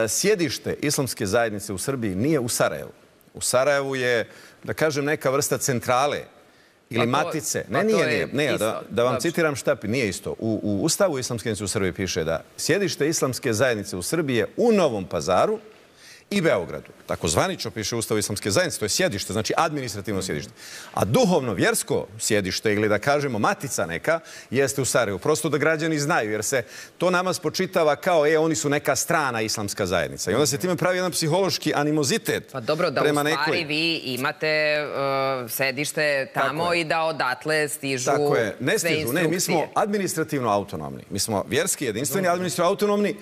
sjedište islamske zajednice u Srbiji nije u Sarajevu. U Sarajevu je, da kažem, neka vrsta centrale ili matice. Ne, nije. Da vam citiram šta nije isto. U Ustavu islamske zajednice u Srbiji piše da sjedište islamske zajednice u Srbiji je u Novom Pazaru i Beogradu. Tako zvanično piše u Ustavu islamske zajednice, to je sjedište, znači administrativno sjedište. A duhovno-vjersko sjedište ili da kažemo matica neka jeste u Sarajevu. Prosto da građani znaju, jer se to nama spočitava kao oni su neka strana islamska zajednica. I onda se time pravi jedan psihološki animozitet. Pa dobro, da u stvari vi imate sedište tamo i da odatle stižu sve instrukcije. Ne, mi smo administrativno autonomni. Mi smo vjerski jedinstveni, administrativno autonomni.